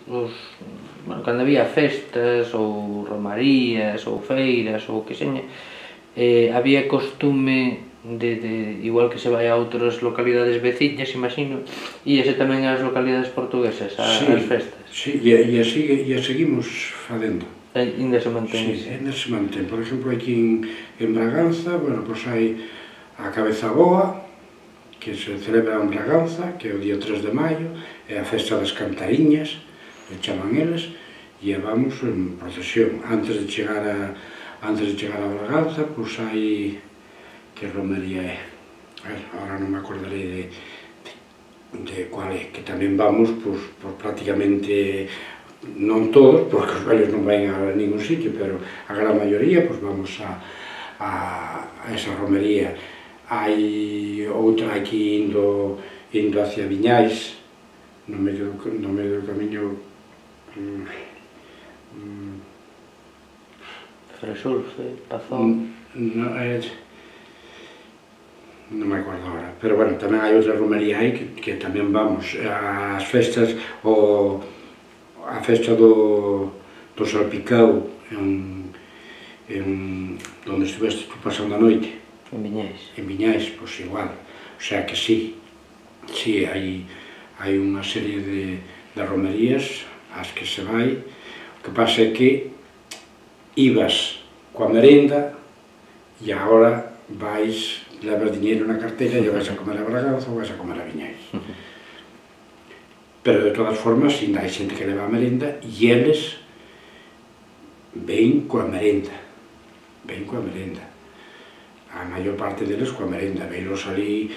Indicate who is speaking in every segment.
Speaker 1: bueno, cando había festas ou romarías ou feiras ou que seña, había costume igual que se vai a outras localidades veciñas, imagino, íase tamén ás localidades portuguesas, ás festas.
Speaker 2: Sí, e a seguimos facendo.
Speaker 1: Ainda se mantén.
Speaker 2: Sí, ainda se mantén. Por exemplo, aquí en Braganza, bueno, pois hai a Cabeza Boa, que se celebra en Braganza, que é o día 3 de maio, é a festa das cantariñas, que chaman eles, e vamos en procesión. Antes de chegar a Braganza, pois hai... que romería é? Ahora non me acordarei de cual é, que tamén vamos, pois, prácticamente, non todos, porque os velhos non van a ningún sitio, pero a gran maioría, pois vamos a esa romería. Hai outra aquí indo hacia Viñais, no medio do camiño...
Speaker 1: Fresulfe, Pazón...
Speaker 2: Non me acordo agora, pero bueno, tamén hai outra romería aí que tamén vamos ás festas, a festa do Salpicao, onde estiveste tú pasando a noite.
Speaker 1: En Viñais.
Speaker 2: En Viñais, pois igual, o sea que sí, hai unha serie de romerías ás que se vai, o que pasa é que ibas coa merenda e agora vais... levas diñeiro na carteira e vais a comer a Braganza ou vais a comer a Viñais. Pero de todas formas, ainda hai xente que leva a merenda e eles ven coa merenda. A maior parte deles coa merenda. Veilos ali,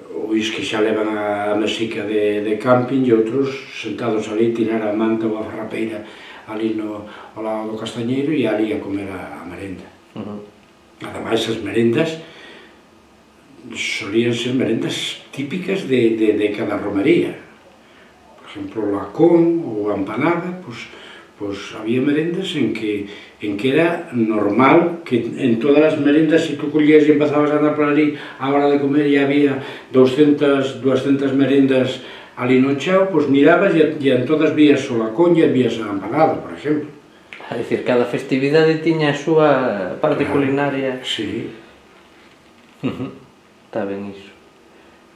Speaker 2: ois que xa levan a mesica de camping e outros sentados ali, tirar a manta ou a farrapeira ali ao lado do castañeiro e ali a comer a merenda. Ademais, as merendas solían ser merendas típicas de cada romería. Por exemplo, o lacón ou a empanada, pois había merendas en que era normal que en todas as merendas, se tú collías e empezabas a andar por ali a hora de comer e había 200 merendas ali no chao, pois mirabas e en todas vías o lacón e vías a empanada, por exemplo.
Speaker 1: É dicir, cada festividade tiña a súa parte culinaria.
Speaker 2: Sí.
Speaker 1: Está ben iso,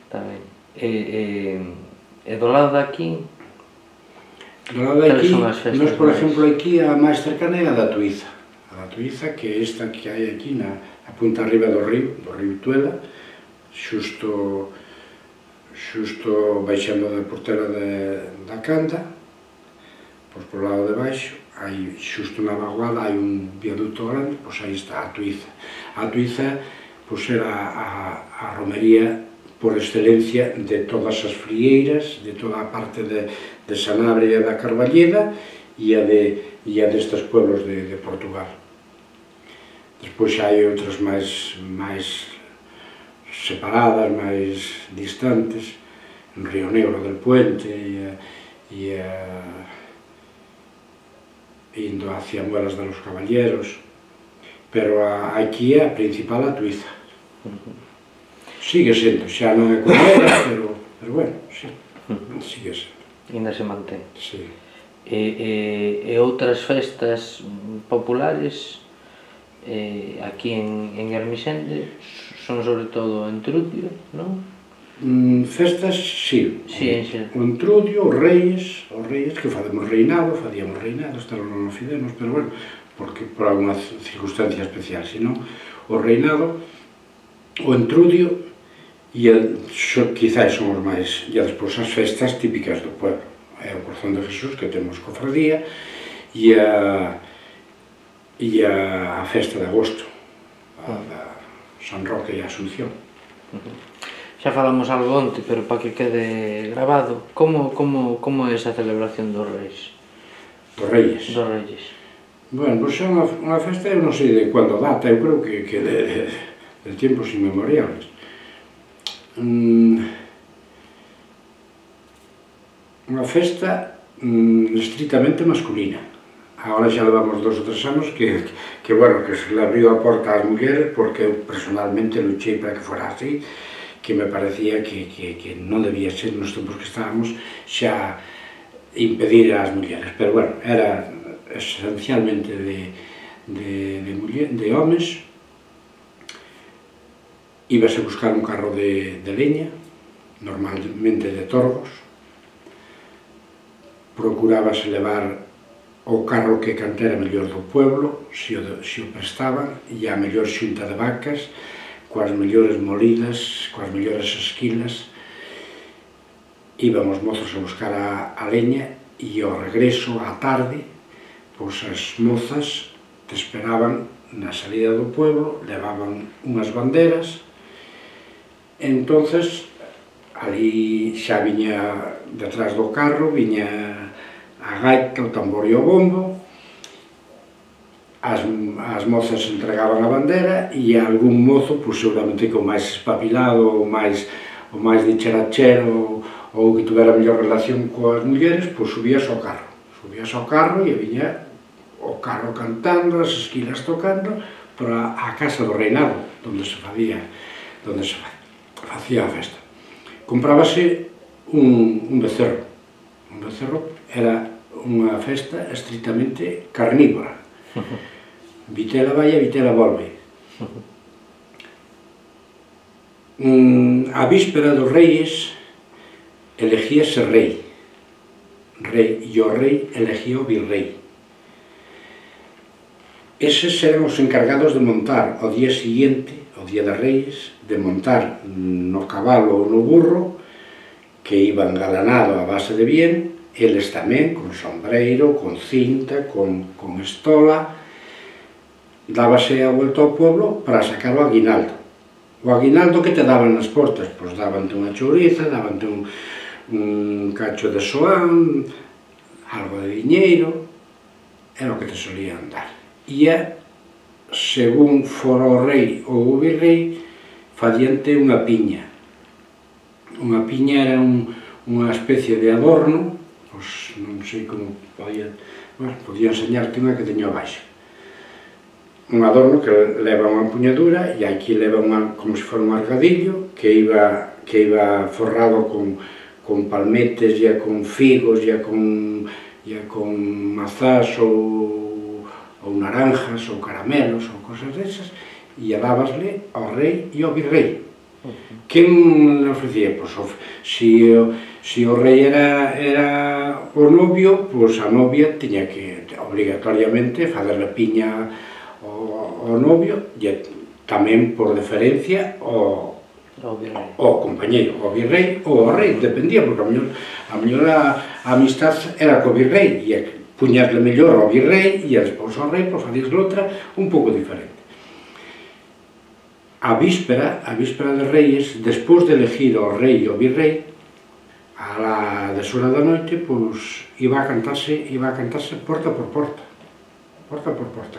Speaker 1: está ben. E do lado de aquí?
Speaker 2: Do lado de aquí, nós, por exemplo, aquí a máis cercana é a da Tuiza. A da Tuiza, que é esta que hai aquí na punta arriba do río Tuela, xusto baixando da portela da Canda, pois por lado de baixo, hai xusto na vaguada, hai un viaduto grande, pois aí está a Tuiza. A Tuiza, pois era a romería por excelencia de todas as frieiras, de toda a parte de Sanabria e da Carballeda e a destes pueblos de Portugal. Despois hai outras máis separadas, máis distantes, en Río Negro del Puente e indo hacia Muelas de los Caballeros, pero aquí é a principal a Tuiza. Sigue sendo, xa non é como era, pero bueno, sí, sigue sendo.
Speaker 1: Ainda se mantén.
Speaker 2: Sí.
Speaker 1: E outras festas populares aquí en Ermixende son sobre todo o Entrudio, non?
Speaker 2: Festas, sí. O Entrudio, os Reis, que facíamos reinado, hasta non o fidemos, pero bueno, porque por alguna circunstancia especial, senón o reinado, o Entrudio e quizás son os máis, e despois as festas típicas do pueblo, é o Corazón de Jesús, que temos cofradía, e a festa de agosto, a da San Roque e a Asunción.
Speaker 1: Xa falamos algo onte, pero para que quede grabado, como é esa celebración dos Reis?
Speaker 2: Dos Reyes?
Speaker 1: Dos Reyes.
Speaker 2: Bueno, pois é unha festa, eu non sei de cando data, eu creo que de tiempos inmemoriales. Unha festa estritamente masculina. Agora xa levamos 2 ou 3 anos que se le abriu a porta ás mulleres, porque eu personalmente luchei para que fora así, que me parecía que non debía ser nos tempos que estábamos, xa impedir ás mulleres, pero bueno, era esencialmente de homes. Íbase buscar un carro de leña, normalmente de torgos, procurábase levar o carro que cantera mellor do pueblo, se o prestaban, e a mellor xunta de vacas, coas mellores molidas, coas mellores esquilas. Íbamos mozos a buscar a leña e ao regreso, á tarde, pois as mozas te esperaban na salida do pueblo, levaban unhas banderas. Entonces, ali xa viña detrás do carro, viña a gaita, o tambor e o bombo, as mozas entregaban a bandera e algún mozo, pois seguramente que o máis espapilado, o máis dicharachero, ou que tuvera mellor relación coas mulleres, pois subías ao carro e viña o carro cantando, as esquilas tocando, para a casa do reinado, onde se facía a festa. Comprábase un becerro. Un becerro era unha festa estritamente carnívora. Vitela vai e vitela volve. A víspera dos reis elegíase rei, e o rei elegía o virrei. Eses eran os encargados de montar ao día seguinte, ao día de reis, de montar no cabalo ou no burro, que iban galanado a base de bien, eles tamén, con sombreiro, con cinta, con estola. Dábase a volta ao pueblo para sacar o aguinaldo. O aguinaldo que te daban nas portas? Pois davante unha chouriza, davante un cacho de soán, algo de diñeiro, era o que te solían dar. E según fora o rei ou o virrei, facíante unha piña. Unha piña era unha especie de adorno, pois non sei como podía enseñarte unha que teño abaixo. Un adorno que leva unha empuñadura e aquí leva como se fora un argadillo que iba forrado con palmetes e con figos e con mazás ou naranjas ou caramelos ou cosas desas, e dábasle ao rei e ao virrei. Quen le ofrecía? Pois se o rei era o novio, pois a novia tiña que obrigatoriamente facerle piña ao novio e tamén por deferencia ao compañeiro, ao virrei ou ao rei, dependía, porque a mellor a amistad era co virrei e puñasle mellor ao virrei e despois ao rei, pois facíasle outra un pouco diferente. A víspera de reis, despois de elegir ao rei e ao virrei, a la deshora da noite, pois iba a cantarse porta por porta.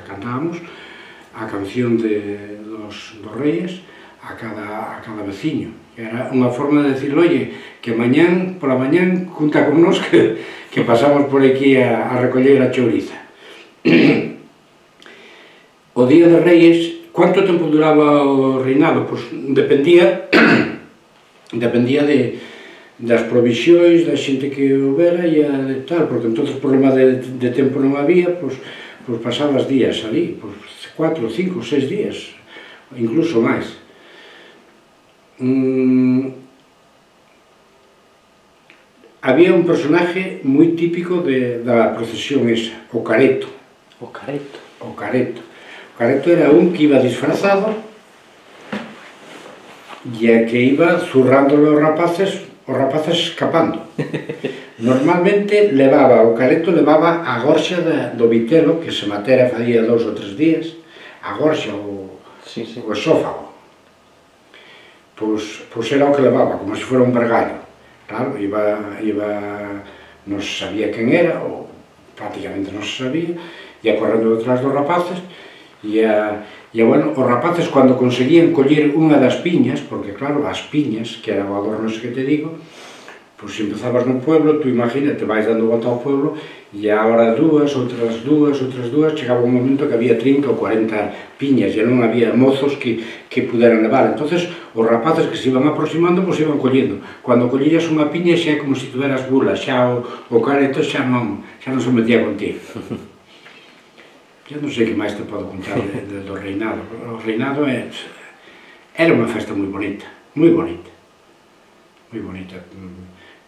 Speaker 2: Cantábamos a canción dos reis a cada veciño. Era unha forma de decir, oye, que pola mañán, junta con nos que pasamos por aquí a recoller a chouriza. O día de reis, quanto tempo duraba o reinado? Pois dependía das provisións, da xente que houbera e tal, porque entón problema de tempo non había, pois pasabas días ali, 4, 5, 6 días, incluso máis. Había un personaje moi típico da procesión esa, o careto.
Speaker 1: O careto?
Speaker 2: O careto. O careto era un que iba disfrazado e que iba zurrándole os rapaces escapando. Normalmente o careto levaba a gorxa do vitelo, que se matera facía 2 ou 3 días, a gorxa, o esófago. Pois era o que levaba, como se fora un vergallo. Claro, non se sabía quen era, ou prácticamente non se sabía, ia correndo detrás dos rapaces, e, bueno, os rapaces, cando conseguían coller unha das piñas, porque, claro, as piñas, que era o adorno ese que te digo, Pois se empezabas no pueblo, tú imagínate, vais dando volta ao pueblo, e agora dúas, outras dúas, chegaba un momento que había 30 ou 40 piñas, e non había mozos que puderan levar. Entonces, os rapaces que se iban aproximando, pois iban collendo. Cando collías unha piña xa é como se tuveras bula, xa o careto xa non se metía contigo. Eu non sei que máis te podo contar do reinado. O reinado era unha festa moi bonita, moi bonita. Moi bonita.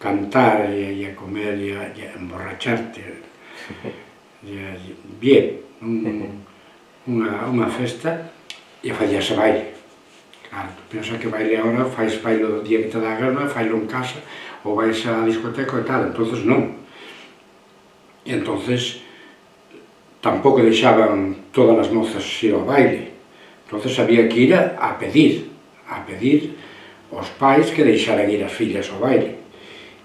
Speaker 2: Cantar e a comer e a emborracharte. Bien, unha festa e facíase baile. Claro, tu pensas que baile agora, fais baile o día que te dá a gana, failo en casa, ou vais á discoteca e tal, entonces non. E entonces tampouco deixaban todas as mozas ir ao baile, entonces había que ir a pedir aos pais que deixaran ir as fillas ao baile.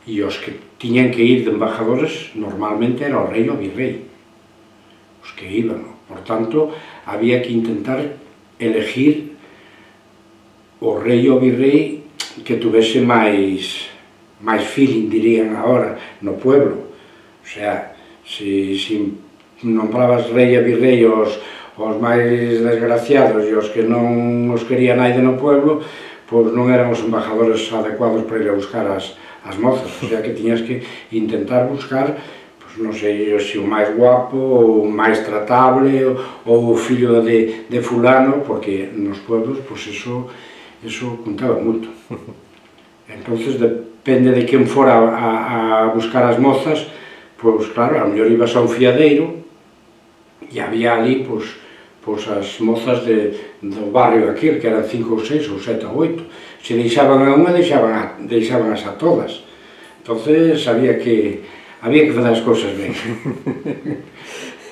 Speaker 2: E os que tiñan que ir de embajadores normalmente era o rei ou o virrei, os que iban. Por tanto, había que intentar elegir o rei ou o virrei que tuvese máis feeling, dirían agora, no pueblo. O sea, se nombrabas rei e virrei os máis desgraciados e os que non os quería naide no pueblo, pois non eran os embajadores adecuados para ir a buscar as mozas, o sea que tiñas que intentar buscar, pois non sei se o máis guapo, ou o máis tratable, ou o fillo de fulano, porque nos pueblos, pois eso contaba moito. Entonces, depende de quen fora a buscar as mozas, pois claro, a mellor ibas a un fiadeiro, e había ali, pois as mozas do barrio aquel, que eran 5 ou 6, ou 7 ou 8. Se deixaban a unha, deixaban as a todas. Entonces, había que fazer as cousas ben.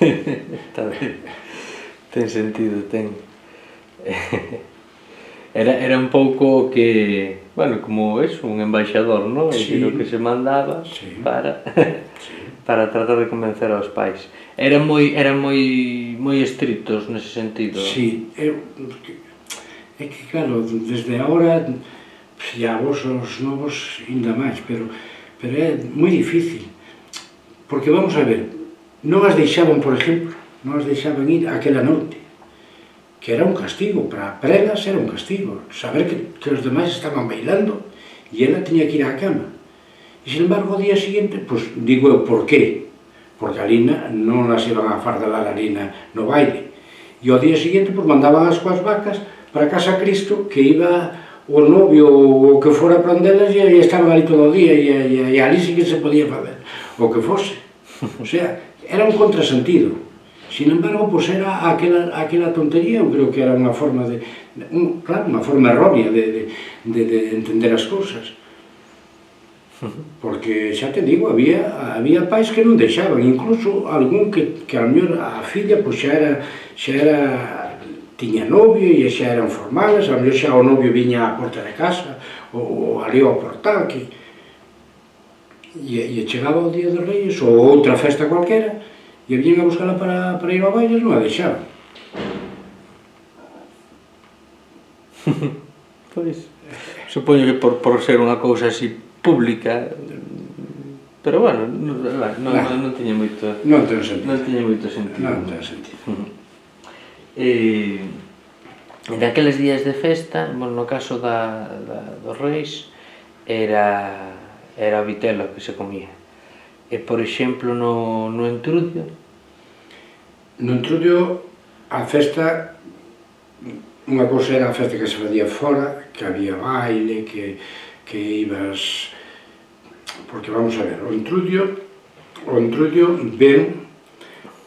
Speaker 1: Está ben. Ten sentido, ten. Era un pouco que, bueno, como eso, un embaixador, non?
Speaker 2: Sí.
Speaker 1: O que se mandaba para tratar de convencer aos pais. Eran moi estritos nese sentido.
Speaker 2: Sí, é que claro, desde agora, e a vos os novos ainda máis, pero é moi difícil, porque vamos a ver, non as deixaban, por exemplo, non as deixaban ir aquela noite, que era un castigo, para elas era un castigo, saber que os demais estaban bailando e ela tiña que ir á cama. E, sin embargo, o día seguinte, pois, digo eu, por qué? Porque ali non as iban a fardalar ali no baile. E ao día seguinte, pois, mandaban as coas vacas para casa Cristo, que iba o novio ou o que fora para onde elas, e estaban ali todo o día, e ali sí que se podía fazer o que fose. O sea, era un contrasentido. Sin embargo, pois era aquela tontería, eu creo que era unha forma claro, unha forma errónea de entender as cousas. Porque, xa te digo, había pais que non deixaban, incluso algún que a mellor a filla pois xa era tiña novio e xa eran formales, a mellor xa o novio viña á porta de casa, ou ali ao portal, e chegaba o día de Reis, ou outra festa cualquera, e viñan a buscala para ir ao baile, non a deixaban.
Speaker 1: Pois, supoño que por ser unha cousa así pública, pero bueno, non tiña moito sentido.
Speaker 2: Non ten sentido.
Speaker 1: Non tiña moito sentido.
Speaker 2: Non ten sentido.
Speaker 1: Naqueles días de festa, no caso dos Reis, era o vitelo que se comía. E, por exemplo, no Entrudio?
Speaker 2: No Entrudio, a festa, unha cousa era a festa que se facía fora, que había baile, que ibas... Porque, vamos a ver, o Entrudio ven,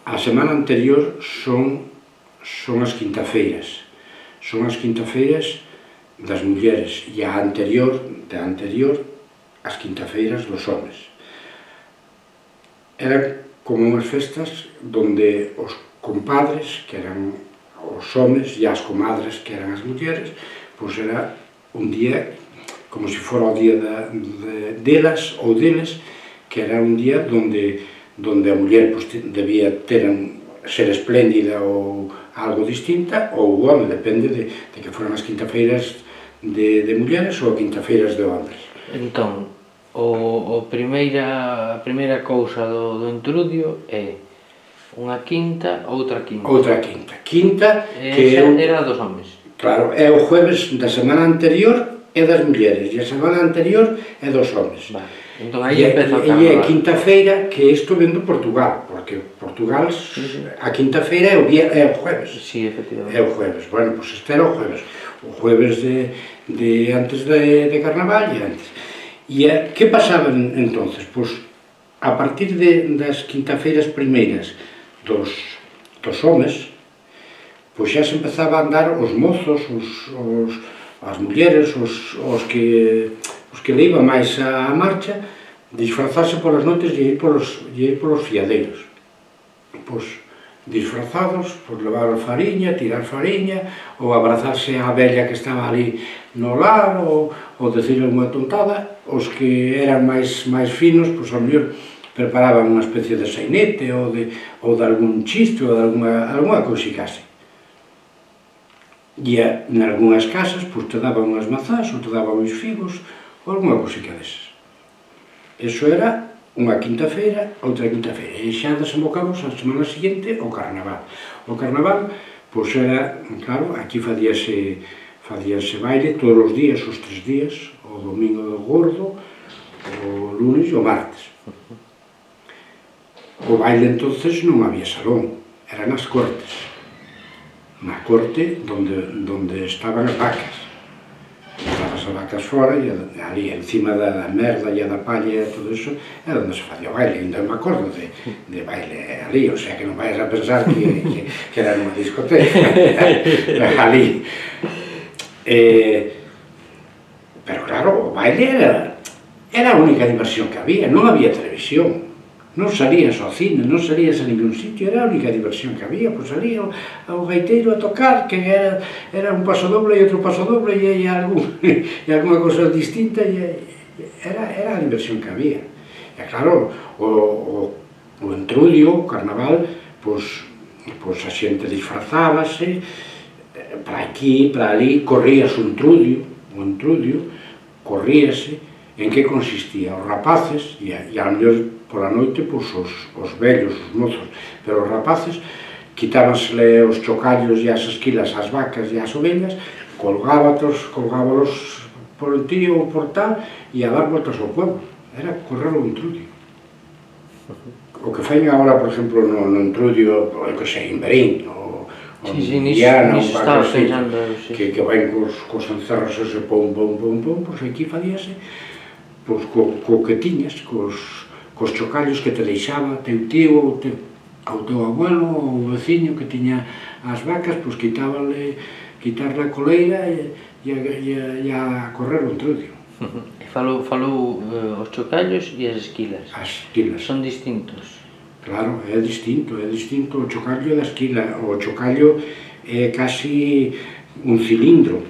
Speaker 2: a semana anterior son as quintafeiras. Son as quintafeiras das mulleres, e a anterior, as quintafeiras dos homes. Eran como unhas festas donde os compadres, que eran os homes, e as comadres, que eran as mulleres, pois era un día como se fora o día delas ou deles, que era un día donde a muller debía ser espléndida ou algo distinta, ou o home, depende de que foran as quintafeiras de mulleres ou quintafeiras de hombres.
Speaker 1: Entón, a primeira cousa do entrudio é unha quinta, outra quinta.
Speaker 2: Outra quinta. Quinta que
Speaker 1: era dos homes.
Speaker 2: Claro, é o jueves da semana anterior é das mulleres e a semana anterior é dos homes.
Speaker 1: Vale. Entón aí empeza o carnaval.
Speaker 2: E é quinta-feira, que isto ven do Portugal, porque Portugal a quinta-feira é o jueves.
Speaker 1: Sí, efectivamente.
Speaker 2: É o jueves. Bueno, pois este era o jueves. O jueves de antes de carnaval e antes. E que pasaba entonces? Pois a partir das quinta-feiras primeiras dos homes, pois xa se empezaba a andar os mozos, as mulleres, os que iban máis á marcha, disfrazarse polas noites e ir polos fiadeiros. Pois disfrazados, pois levar fariña, tirar fariña, ou abrazarse á vella que estaba ali no lar, ou decirle unha tontada. Os que eran máis finos, pois ao mellor preparaban unha especie de sainete ou de algún chiste ou de alguna cousica así. E en algunhas casas te daban unhas mazás ou te daban uns figos ou alguna cousica desas. Eso era unha quinta-feira, outra quinta-feira. E xa desembocamos a semana seguinte o carnaval. O carnaval, pois era, claro, aquí fadíase baile todos os días, os 3 días, o domingo do gordo, o lunes e o martes. O baile entonces non había salón, era nas cortes. Na corte donde estaban as vacas. Estaban as vacas fora e ali encima da merda e da palla e todo iso era onde se facía o baile. Ainda me acordo de baile ali, o sea que non vais a pensar que era nunha discoteca. Ali. Pero claro, o baile era a única diversión que había, non había televisión. Non salías ao cine, non salías a ningún sitio, era a única diversión que había, pois salía o gaiteiro a tocar, que era un paso doble e outro paso doble e alguna cosa distinta, era a diversión que había. E claro, o entrudio, o carnaval, pois a xente disfrazábase, para aquí, para ali, corrías o entrudio, corríase. En que consistía? Os rapaces, e a mellor pola noite, pois os vellos, os mozos, pero os rapaces quitábansele os chocallos e as esquilas ás vacas e ás ovellas, colgábalos por el tío ou por tal, e a dar voltas ao pueblo. Era correr o entrudio. O que fai agora, por exemplo, no entrudio, que sei, en Berín, ou en Viana, ou que vai cos encerros ese pom, pois aquí fadíase co que tiñas, cos chocallos que te deixaba teu tío ou teu abuelo ou o veciño que tiña as vacas, pois quitarle a coleira e a correr o entrudio.
Speaker 1: Falou os chocallos e as esquilas.
Speaker 2: As esquilas.
Speaker 1: Son distintos.
Speaker 2: Claro, é distinto o chocallo da esquila. O chocallo é casi un cilindro.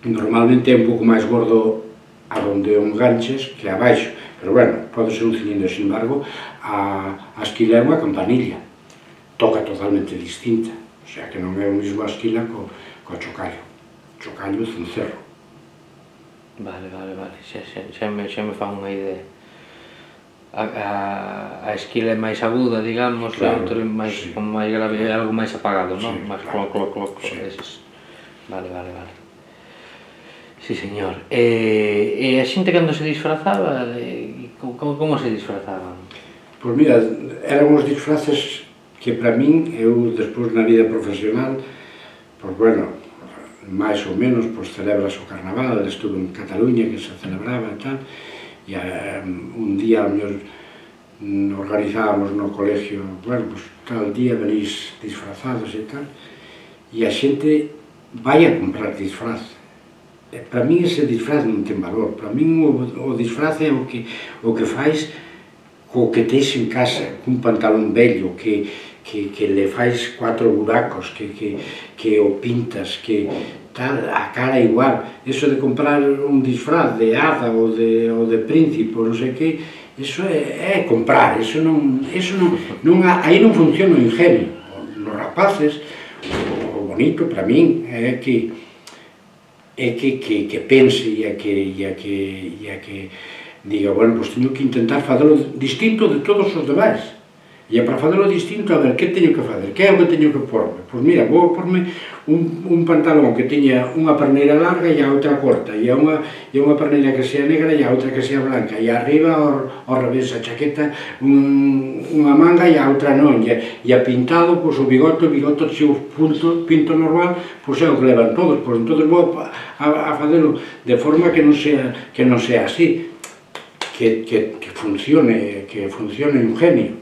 Speaker 2: Normalmente é un pouco máis gordo a donde o enganches que abaixo, pero bueno, pode ser un cilindro. Sin embargo, a esquila é unha campanilla, toca totalmente distinta, o sea que non é o mesmo a esquila co chocallo. Chocallo é cencerro.
Speaker 1: Vale, xa me fan unha idea. A esquila é máis aguda, digamos, e o outro é máis grave, é algo máis apagado, non? Máis cloc, eses. Vale. Sí, señor. E a xente cando se disfrazaba, como se disfrazaban?
Speaker 2: Pois mira, eran uns disfraces que para min, eu despois na vida profesional, pois bueno, máis ou menos, pois celebras o carnaval, estuve en Cataluña que se celebraba e tal, e un día ao mellor organizábamos no colegio, bueno, pois tal día venís disfrazados e tal, e a xente vai a comprar disfraz. Para min ese disfraz non ten valor, para min o disfraz é o que fais co que tens en casa, cun pantalón vello, que le fais 4 buracos, que o pintas, que tal, a cara igual. Eso de comprar un disfraz de hada ou de príncipe ou non sei que, eso é comprar, aí non funciona o ingenio. Los rapaces, o bonito para min é que pense e a que diga, bueno, pois teño que intentar facelo distinto de todos os demais. E para facelo distinto, a ver, que teño que facer? Que é o que teño que porme? Pois mira, vou porme un pantalón que teña unha perneira larga e a outra corta, e unha perneira que sea negra e a outra que sea blanca, e arriba ao revés, a chaqueta unha manga e a outra non, e a pintado, pois o bigote se o pinto normal, pois é o que levan todos, pois entón vou a facelo de forma que non sea así, que funcione un genio.